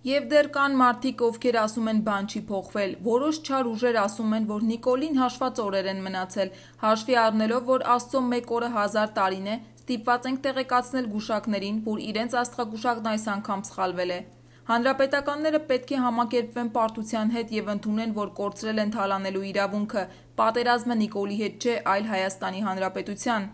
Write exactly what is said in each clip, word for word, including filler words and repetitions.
Եվ դեռ կան մարդիկ, ովքեր ասում են բան չի փոխվել, որոշ չար ուժեր ասում են, որ Նիկոլին հաշված օրեր են մնացել, հաշվի առնելով, որ Աստծո մեկ օրը հազար տարին է, ստիպված ենք տեղեկացնել գուշակներին, որ իրենց աստղագուշակն այս անգամ սխալվել է։ Հանրապետականները պետք է համակերպվեն պարտության հետ եւ ընդունեն, որ կորցրել են թալանելու իրավունքը, պատերազմը Նիկոլի հետ չէ, այլ Հայաստանի Հանրապետության,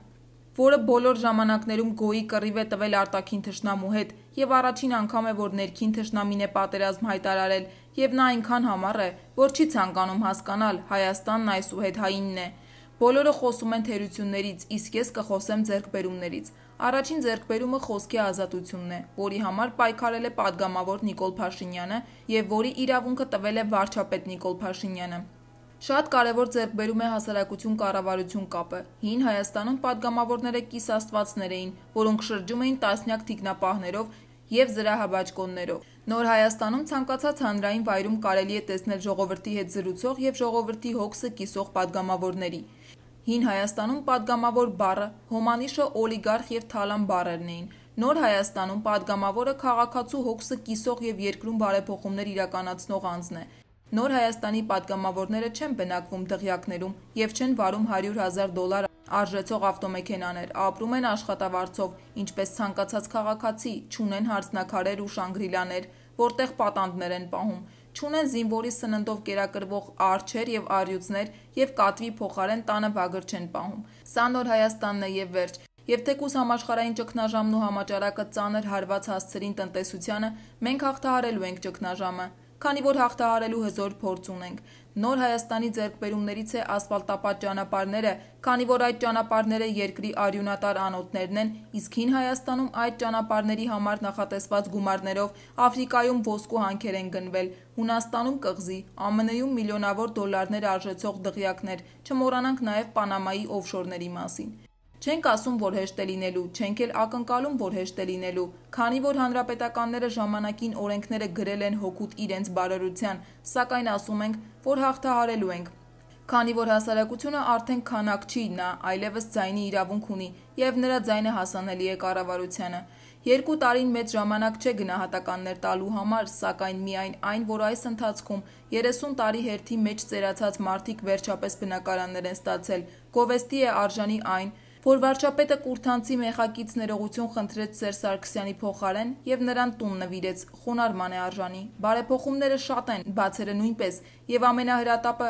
որը բոլոր ժամանակներում գոյի կռիվ է տվել արտաքին թշնամու հետ եւ առաջին անգամ է, որ ներքին թշնամին է պատերազմ հայտարարել եւ նա այնքան համառ է, որ չի ցանկանում հասկանալ Հայաստանն այսուհետ-հայինն է։ Բոլորը խոսում են թերություններից, իսկ ես կխոսեմ ձեռքբերումներից։ Առաջին ձեռքբերումը խոսքի ազատությունն է, որի համար պայքարել է պատգամավոր Նիկոլ Փաշինյանը եւ որի իրավունքը տվել է վարչապետ Նիկոլ Փաշինյանը։ Շատ կարևոր ձեռքբերում է հասարակություն-կառավարություն կապը։ Հին Հայաստանում պատգամավորները կիսաստվածներ էին, որոնք շրջում էին տասնյակ թիկնապահներով եւ զրահաբաճկոններով։ Նոր Հայաստանում ցանկացած հանրային վայրում կարելի է տեսնել ժողովրդի հետ զրուցող եւ ժողովրդի հոգսը կիսող պատգամավորների։ Հին Հայաստանում պատգամավոր բառը, հոմանիշը օլիգարխ եւ թալան բառերն էին։ Նոր Հայաստանում պատգամավորը քաղաքացու հոգսը կիսող եւ երկրում բարեփոխումներ իրականացնող անձն է։ Նոր Հայաստանի պատգամավորները չեն բնակվում դղյակներում եւ չեն վարում հարյուր հազար դոլար արժեցող ավտոմեքենաներ, ապրում են աշխատավարձով, ինչպես ցանկացած քաղաքացի, չունեն հարսնաքարեր ու շանգրիլաներ, որտեղ պատանդներ են պահում, չունեն զինվորի սննդով կերակրվող արջեր եւ առյուծներ եւ կատվի փոխարեն տանը վագր չեն պահում։ Սա Նոր Հայաստանն է եւ վերջ։ Եվ թեկուզ համաշխարհային ճգնաժամն ու համաճարակը ծանր հարված հասցրին տնտեսությանը, մենք հաղթահարելու ենք ճգնաժամը, քանի որ հաղթահարելու հզոր փորձ ունենք։ Նոր Հայաստանի ձեռքբերումներից է ասֆալտապատ ճանապարհները, քանի որ այդ ճանապարհները երկրի արյունատար անոթներն են, իսկ Հին Հայաստանում այդ ճանապարհների համար նախատեսված գումարներով Աֆրիկայում ոսկու հանքեր են գնվել, Հունաստանում կղզի, ԱՄՆ-ում միլիոնավոր դոլարներ արժեցող դղյակներ, չմոռանանք նաև Պանամայի օֆշորների մասին։ Չենք ասում, որ հեշտ է լինելու, չենք էլ ակնկալում, որ հեշտ է լինելու, քանի որ հանրապետականները ժամանակին օրենքները գրել են հօգուտ իրենց բարօրության, սակայն ասում ենք, որ հաղթահարելու ենք։ Քանի որ հասարակությունը արդեն քանակ չի, նա այլևս ձայնի իրավունք ունի եւ նրա ձայնը հասանելի է կառավարությանը։ Երկու տարին մեծ ժամանակ չէ գնահատականներ տալու համար, սակայն միայն այն, որ այս ընթացքում երեսուն տարի հերթի մեջ ծերացած մարդիկ վերջապես բնակարաններ են ստացել, գովեստի է արժանի այն, որ վարչապետը Կուրթանցի մեխակից ներողություն խնդրեց Սերժ Սարգսյանի փոխարեն եւ նրան տուն նվիրեց, խոնարհման է արժանի։ Բարեփոխումները շատ են, բացերը նույնպես, եւ ամենահրատապը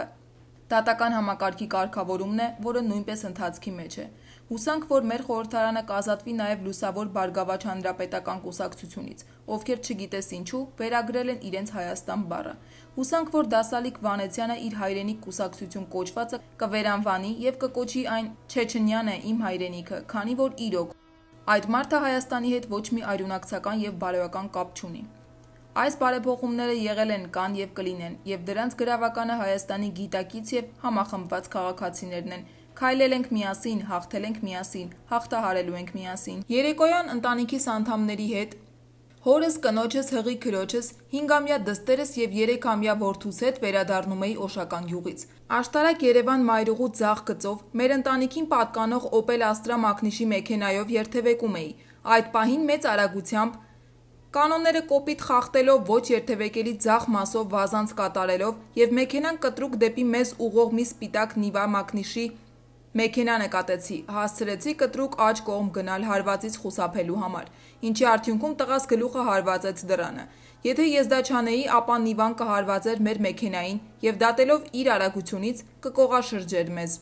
դատական համակարգի կարգավորումն է, որը նույնպես ընթացքի մեջ է։ Հուսանք, որ մեր խորհրդարանը կազատվի նաև լուսավոր Բարգավաճ Հանրապետական կուսակցությունից, ովքեր չգիտես ինչու վերագրել են իրենց Հայաստան բառը։ Հուսանք, որ Դասալիկ Վանեցյանը իր հայրենիք կուսակցություն կոչվածը կվերանվանի եւ կկոչի այն Չեչենյան է իմ հայրենիքը, քանի որ իրոք այդ մարդը Հայաստանի հետ ոչ մի արյունակցական եւ բարոյական կապ չունի։ Այս բարեփոխումները եղել են, կան եւ կլինեն, եւ դրանց գրավականը Հայաստանի գիտակից եւ համախմբված քաղաքացիներն են։ Քայլել ենք միասին, հաղթել ենք միասին, հաղթահարելու ենք միասին։ Երեկոյան ընտանիքիս անդամների հետ, հորս, կնոջս, հղի քրոջս, հինգամյա դստերս եւ երեքամյա որդուս հետ վերադառնում էի Օշական գյուղից։ Աշտարակ Երևան մայրուղու ձախ գծով մեր ընտանիքին պատկանող Opel Astra մակնիշի մեքենայով երթևեկում էի։ Այդ պահին մեծ արագությամբ կանոնները կոպիտ խախտելով, ոչ երթևեկելի ձախ մասով վազանց կատարելով եւ մեքենան կտրուկ դեպի մեզ ուղող մի սպիտակ Նիվա մակնիշի մեքենա նկատեցի, հասցրեցի կտրուկ աջ կողմ գնալ հարվածից խուսափելու համար, ինչի արդյունքում տղաս գլուխը հարվածեց դռանը։ Եթե ես դա չանեի, ապա Նիվան կհարվածեր մեր մեքենային եւ դատելով իր արագությունից կկողաշրջեր մեզ։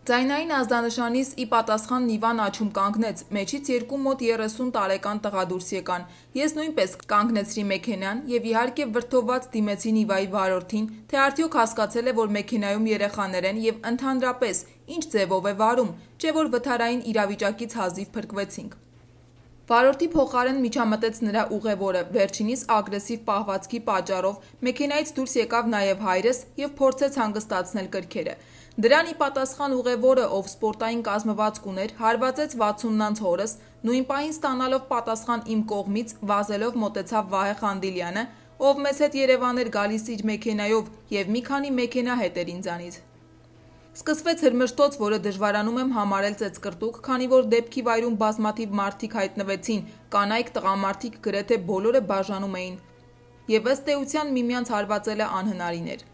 Ձայնային ազդանշանից ի պատասխան Նիվան աչում կանգնեց, մեջից երկու մոտ երեսուն տարեկան տղա դուրս եկան։ Ես նույնպես կանգնեցրի մեքենան եւ իհարկե վրդովված դիմեցի Նիվայի վարորդին, թե արդյոք հասկացել է, որ մեքենայում երեխաներ են եւ ընդհանրապես ինչ ձևով է վարում, չէ որ վթարային իրավիճակից հազիվ փրկվեցինք։ Վարորդի փոխարեն միջամտեց նրա ուղևորը, վերջինիս ագրեսիվ պահվածքի պատճառով մեքենայից դուրս եկավ նաև հայրս եւ փորձեց հանգստացնել կրքերը։ Դրան ի պատասխան ուղևորը, ով սպորտային կազմվածք ուներ, հարվածեց վաթսուննանց հորս, նույն պահին ստանալով պատասխան իմ կողմից, վազելով մոտեցավ Վահե Խանդիլյանը, ով մեզ հետ Երևան էր գալիս իր մեքենայով եւ մի քանի մեքենա հետ էր ինձանից։ Սկսվեց հրմշտոց, որը դժվարանում եմ համարել ծեծկրտուկ, քանի որ դեպքի վայրում բազմաթիվ մարդիկ հայտնվեցին, կանայք, տղամարդիկ գրեթե բոլորը բաժանում էին։ եւ ըստ էության միմյանց հարվածելը անհնարին էր։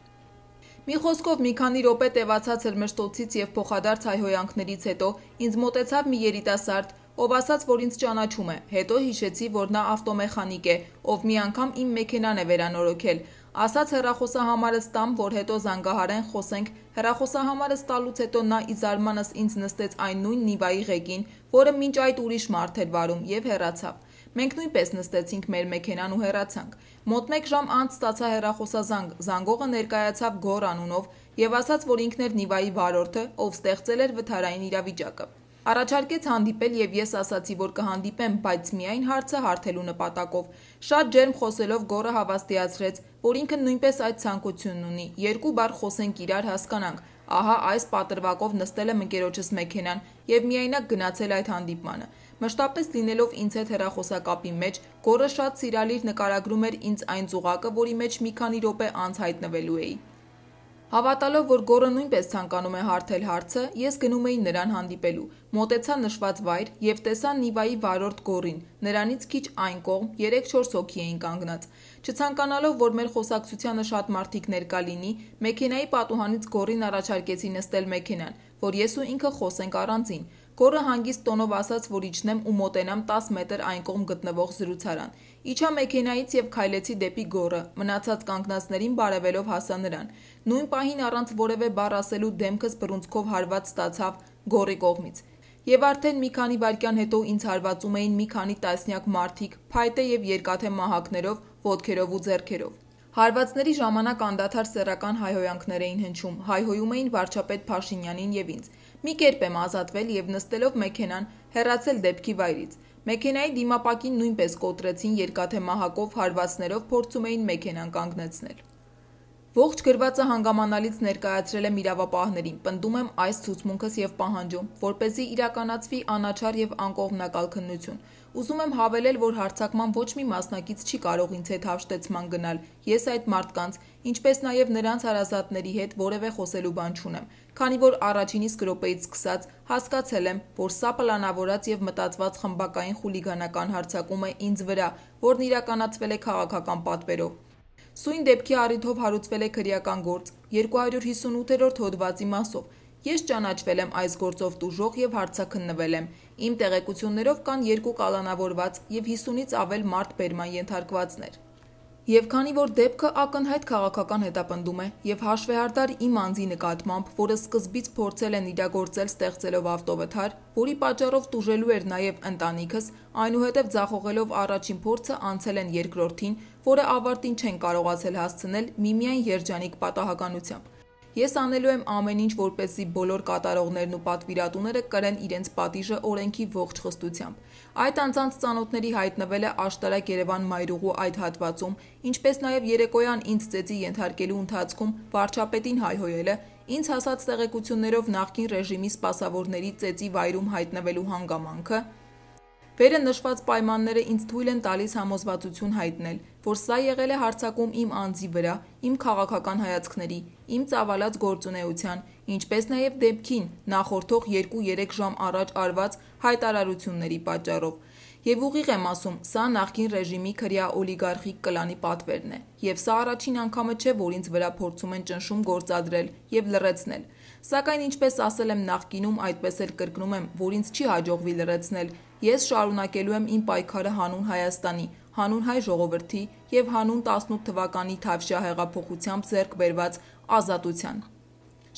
Մի խոսքով մի քանի րոպե տևացած հրմշտոցից եւ փոխադարձ հայհոյանքներից հետո ինձ մոտեցավ մի երիտասարդ, ով ասաց, որ ինձ ճանաչում է, հետո հիշեցի, որ նա ավտոմեխանիկ է, ով մի անգամ իմ մեքենան է վերանորոգել, ասաց հեռախոսահամարս տամ, որ հետո զանգահարեն խոսենք, հեռախոսահամարս տալուց հետո նա ի զարմանս ինձ նստեց այն նույն Նիվայի ղեկին, որը մինչ այդ ուրիշ մարդ էր վարում եւ հեռացավ։ Մենք նույնպես նստեցինք մեր մեքենան ու հեռացանք։ Մոտ մեկ ժամ անց ստացա հեռախոսազանգ, զանգողը ներկայացավ Գոր անունով եւ ասաց, որ ինքն էր Նիվայի վարորդը, ով ստեղծել էր վթարային իրավիճակը։ Առաջարկեց հանդիպել եւ ես ասացի, որ կհանդիպեմ, բայց միայն հարցը հարթելու նպատակով։ Շատ ջերմ խոսելով Գորը հավաստիացրեց, որ ինքը նույնպես այդ ցանկությունն ունի։ Երկու բառ խոսենք իրար հասկանանք։ Ահա այս պատրվակով նստել եմ ընկերոջս մեքենան եւ միայնակ գնացել այդ հանդիպմանը։ Մշտապես լինելով ինձ հետ հեռախոսակապի մեջ, Գորը շատ սիրալիր նկարագրում էր ինձ այն ծուղակը, որի մեջ մի քանի րոպե անց հայտնվելու էի։ Հավատալով, որ Գորը նույնպես ցանկանում է հարթել հարցը, ես գնում էի նրան հանդիպելու։ Մոտեցա նշված վայր եւ տեսա Նիվայի վարորդ Գորին։ Նրանից քիչ այն կողմ երեք-չորս հոգի էին կանգնած։ Չցանկանալով, որ մեր խոսակցությանը շատ մարդիկ ներկա լինի, մեքենայի պատուհանից Գորին առաջարկեցի նստել մեքենան, որ ես ու ինքը խոսենք առանձին։ Գորը հանգիստ տոնով ասաց, որ իջնեմ ու մոտենամ տաս մետր այն կողմ գտնվող զրուցարան։ Իջա մեքենայից եւ քայլեցի դեպի Գորը, մնացած կանգնածներին բարևելով հասա նրան։ Նույն պահին առանց որևէ բառ ասելու դեմքս բռունցքով հարված ստացավ Գորի կողմից։ Եվ արդեն մի քանի վայրկյան հետո ինձ հարվածում էին մի քանի տասնյակ մարդիկ, փայտե եւ երկաթե մահակներով, ոտքերով ու ձեռքերով։ Հարվածների ժամանակ անդադար սեռական հայհոյանքներ էին հնչում, հայհոյում էին վարչապետ Փաշինյանին եւ ինձ։ Մի կերպ եմ ազատվել եւ նստելով մեքենան հեռացել դեպքի վայրից։ Մեքենայի դիմապակին նույնպես կոտրեցին երկաթե մահակով, հարվածներով փորձում էին մեքենան կանգնեցնել։ Ողջ գրվածը հանգամանալից ներկայացրել եմ իրավապահներին, պնդում եմ այս ցուցմունքս եւ պահանջում, որպեսզի իրականացվի անաչառ եւ անկողմնակալ քննություն։ Ուզում եմ հավելել, որ հարձակման ոչ մի մասնակից չի կարող ինձ հետ հաշտեցման գնալ, ես այդ մարդկանց, ինչպես նաեւ նրանց հարազատների հետ որևէ խոսելու բան չունեմ, քանի որ առաջին իսկ րոպեից սկսած հասկացել եմ, որ սա պլանավորած եւ մտածված խմբակային խուլիգանական հարձակում է ինձ վրա, որն իրականացվել է քաղաքական պատվերով։ Սույն դեպքի առիթով հարուցվել է քրեական գործ երկու հարյուր հիսունութերորդ հոդվածի մասով։ Ես ճանաչվել եմ այս գործով տուժող եւ հարցաքննվել եմ։ Իմ տեղեկություններով կան երկու կալանավորված եւ հիսունից ավել մարդ բերման ենթարկվածներ։ Եվ քանի որ դեպքը ակնհայտ քաղաքական հետապնդում է եւ հաշվեհարդար իմ անձի նկատմամբ, որը սկզբից փորձել են իրագործել ստեղծելով ավտովթար, որի պատճառով տուժելու էր նաեւ ընտանիքս, այնուհետև ձախողելով առաջին փորձը անցել են երկրորդին, որը ավարտին չեն կարողացել հասցնել միմիայն երջանիկ պատահականությամբ։ Ես անելու եմ ամեն ինչ, որպեսզի բոլոր կատարողներն ու պատվիրատուները կրեն իրենց պատիժը օրենքի ողջ խստությամբ։ Այդ անձանց ծանոթների հայտնվելը աշտարակ Երևան մայրուղու այդ հատվածում, ինչպես նաև երեկոյան ինձ ծեծի ենթարկելու ընթացքում վարչապետին հայհոյելը, ինձ հասած տեղեկություններով նախկին ռեժիմի սպասավորների ծեծի վայրում հայտնվելու հանգամանքը, վերը նշված պայմանները ինձ թույլ են տալիս համոզվածություն հայտնել, որ սա եղել է հարձակում իմ անձի վրա, իմ քաղաքական հայացքների, իմ ծավալած գործունեության, ինչպես նաև դեպքին նախորդող երկու-երեք ժամ առաջ արված հայտարարությունների պատճառով։ Եվ ուղիղ եմ ասում, սա նախկին ռեժիմի քրեա օլիգարխիկ կլանի պատվերն է, եւ սա առաջին անգամը չէ, որ ինձ վրա փորձում են ճնշում գործադրել եւ լռեցնել։ Սակայն ինչպես ասել եմ նախկինում, այդպես էլ կրկնում եմ, որ ինձ չի հաջողվի լռեցնել։ Ես շարունակելու եմ իմ պայքարը հանուն Հայաստանի, հանուն հայ ժողովրդի եւ հանուն տասնութ թվականի Թավշյա հեղափոխությամբ ձեռք բերված ազատության։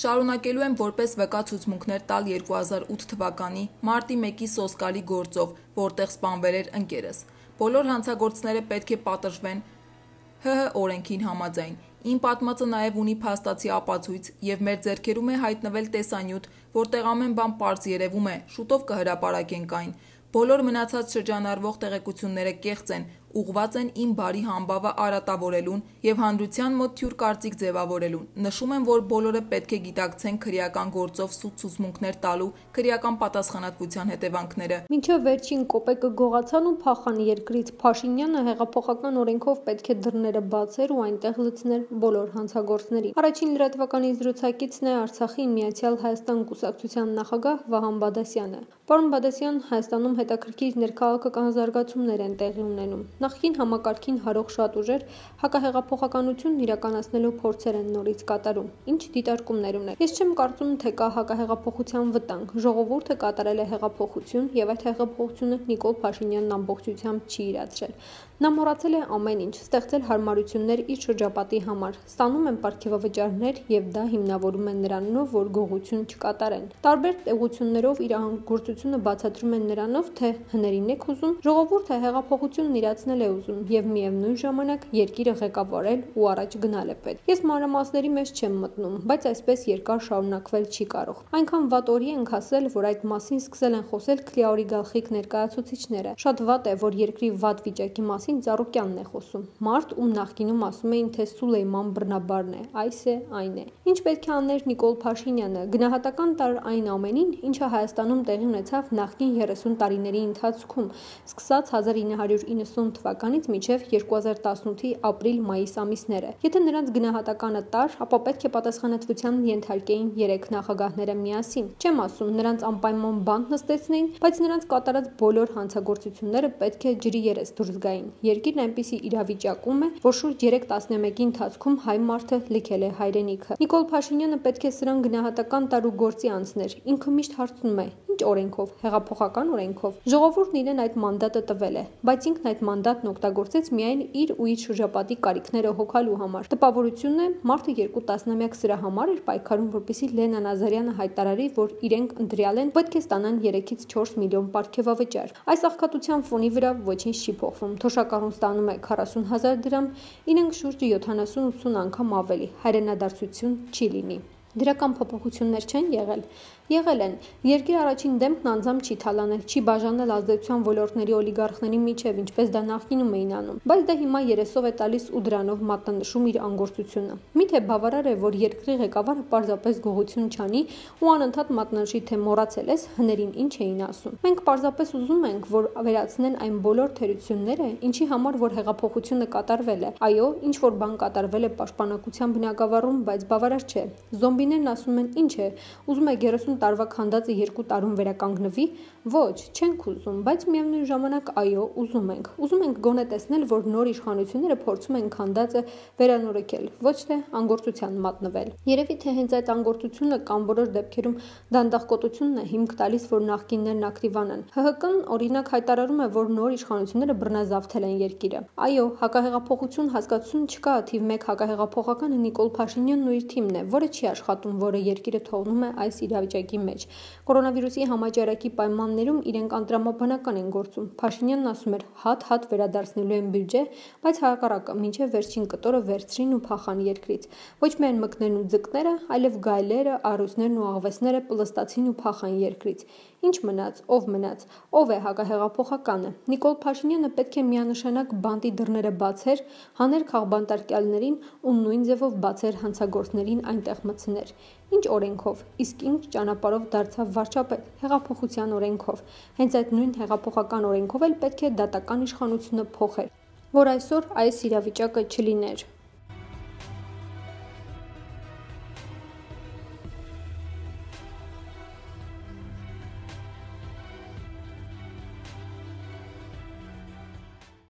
Շարունակելու եմ որպես վկա ցուցմունքներ տալ երկու հազար ութ թվականի մարտի մեկի սոսկալի գործով, որտեղ սպանվել էր ընկերս։ Բոլոր հանցագործները պետք է պատժվեն ՀՀ օրենքին համաձայն։ Իմ պատմածը նաև ունի փաստացի ապացույց եւ մեր ձեռքերում է հայտնվել տեսանյութ, որտեղ ամեն բան պարզ երևում է, շուտով կհրապարակենք այն։ Բոլոր մնացած շրջանառվող տեղեկությունները կեղծ են, ուղղված են իմ բարի համբավը արատավորելուն եւ հանրության մոտ թյուր կարծիք ձևավորելուն։ Նշում եմ, որ բոլորը պետք է գիտակցեն քրեական գործով սուտ ցուցմունքներ տալու քրեական պատասխանատվության հետևանքները։ Մինչև վերջին կոպեկը գողացան ու փախան երկրից, Փաշինյանը հեղափոխական օրենքով պետք է դռները բացեր ու այնտեղ լցներ բոլոր հանցագործներին։ Առաջին լրատվականի զրուցակիցն է Արցախի Միացյալ Հայաստան կուսակցության նախագահ Վահան Բադասյանը։ Պարոն Բադասյան, Հայաստանում հետաքրքիր ներքաղաքական զարգացումներ են տեղի ունենում։ Նախկին համակարգին հարող շատ ուժեր հակահեղափոխականությունն իրականացնելու փորձեր են նորից կատարում, ինչ դիտարկումներ ունեք։ Ես չեմ կարծում, թե կա հակահեղափոխության վտանգ։ Ժողովուրդը կատարել է հեղափոխություն եւ այդ հեղափոխությունը Նիկոլ Փաշինյանն ամբողջությամբ չի իրացրել։ Նա մոռացել է ամեն ինչ, ստեղծել հարմարություններ իր շրջապատի համար, ստանում են պարգևավճարներ եւ դա հիմնավորում են նրանով, որ գողություն չկատարեն։ Տարբեր տեղություններով իր գործությունը բացատրում են նրանով, թե հներին եք ուզում, ժողովուրդը հեղափոխությունն իրացնել է ուզում եւ միևնույն ժամանակ երկիրը ղեկավարել ու առաջ գնալ է պետք։ Ես մանրամասների մեջ չեմ մտնում, բայց այսպես երկար շարունակվել չի կարող։ Այնքան վատ օրի ենք հասել, որ այդ մասին սկսել են խոսել Քլիաորի գլխիկ ներկայացուցիչները։ Շատ վատ է, որ երկրի վատ վիճակի մասին Ծառուկյանն է խոսում։ Մարդ, ում նախկինում ասում էին, թե Սուլեյման Բռնաբարն է, այս է, այն է։ Ինչ պետք է աներ Նիկոլ Փաշինյանը, գնահատական տար այն ամենին, ինչը Հայաստանում տեղի ունեցավ նախկին երեսուն տարիների ընթացքում, սկսած հազար ինը հարյուր իննսուն թվականից մինչև երկու հազար տասնութի ապրիլ-մայիս ամիսները։ Եթե նրանց գնահատականը տար, ապա պետք է պատասխանատվության ենթարկեին երեք նախագահները միասին։ Չեմ ասում նրանց անպայման բանտ նստեցնեին, բայց նրանց կատարած բոլոր հանցագործությունները պետք է ջրի երես դուրս գային։ Երկիրն այնպիսի իրավիճակում է, որ շուրջ երեք տասնամյակի ընթացքում հայ մարդը լքել է հայրենիքը։ Նիկոլ Փաշինյանը պետք է սրան գնահատական տար ու գործի անցներ։ Ինքը միշտ հարցնում է. ինչ օրենքով, հեղափոխական օրենքով։ Ժողովուրդն իրեն այդ մանդատը տվել է, բայց ինքն այդ մանդատն օգտագործեց միայն իր ու իր շրջապատի կարիքները հոգալու համար։ Տպավորությունն է, մարդը երկու տասնամյակ սրա համար էր պայքարում, որպեսզի Լենա Նազարյանը հայտարարի, որ իրենք ընտրյալ են, պետք է ստանան երեքից չորս միլիոն պարգևավճար։ Այս աղքատության ֆոնի վրա ոչինչ չի փոխվում։ Թոշակառուն ստանում է քառասուն հազար դրամ, իրենք շուրջ յոթանասուն-ութսուն անգամ ավելի, հայրենադարձություն չի լինի։ Դրական փոփոխություններ չեն եղել։ Եղել են։ Երկրի առաջին դեմքն անձամբ չի թալանել, չի բաժանել ազդեցության ոլորտների օլիգարխների միջև, ինչպես դա նախկինում էին անում, բայց դա հիմա երեսով է տալիս ու դրանով մատնանշում իր անգործությունը։ Միթե բավարար է, որ երկրի ղեկավարը պարզապես գողություն չանի ու անընդհատ մատնանշի, թե մոռացել ես հներին ինչ էին ասում։ Մենք պարզապես ուզում ենք, որ վերացնեն այն բոլոր թերությունները, ինչի համար որ հեղափոխությունը կատարվել է։ Այո, ինչ որ բան կատարվել է պաշտպանակության բնագավառում, բայց բավարար չէ։ Զոմբիներն ասում են, ինչ է, ուզում եք երեսուն տարվա քանդածը երկու տարում վերականգնվի։ Ոչ, չենք ուզում, բայց միևնույն ժամանակ այո, ուզում ենք։ Ուզում ենք գոնե տեսնել, որ նոր իշխանությունները փորձում են քանդածը վերանորոգել, ոչ թե անգործության մատնվել։ Երևի թե հենց այդ անգործությունը կամ որոշ դեպքերում դանդաղկոտությունն է հիմք տալիս, որ նախկիններն ակտիվանան։ Հ Հ Կն օրինակ հայտարարում է, որ նոր իշխանությունները բռնազավթել են երկիրը։ Այո, հակահեղափոխություն հասկացություն չկա, թիվ մեկ հակահեղափոխականը Նիկոլ Փաշինյանն ու իր թիմն է, որը չի աշխատում, որը երկիրը թողնում է այս իրավիճակի մեջ։ Կորոնավիրուսի համաճարակի պայմաններում իրենք անտրամաբանական են գործում։ Փաշինյանն ասում էր՝ հատ-հատ վերադարձնելու են բյուջե, բայց հակառակը մինչև վերջին կտորը վերցրին ու փախան երկրից։ Ոչ միայն մկներն ու ձկները, այլև գայլերը, առյուծներն ու աղվեսները պլստացին ու փախան երկրից։ Ինչ մնաց, ով մնաց, ով է հակահեղափոխականը։ Նիկոլ Փաշինյանը պետք է միանշանակ բանտի դռները բացեր, հաներ քաղբանտարկյալներին ու նույն ձևով բացեր հանցագործներին այնտեղ մտցներ։ Ինչ օրենքով, իսկ ինչ ճանապարհով դարձավ վարչապետ, հեղափոխության օրենքով։ Հենց այդ նույն հեղափոխական օրենքով էլ պետք է դատական իշխանությունը փոխեր, որ այսօր այս իրավիճակը չլիներ։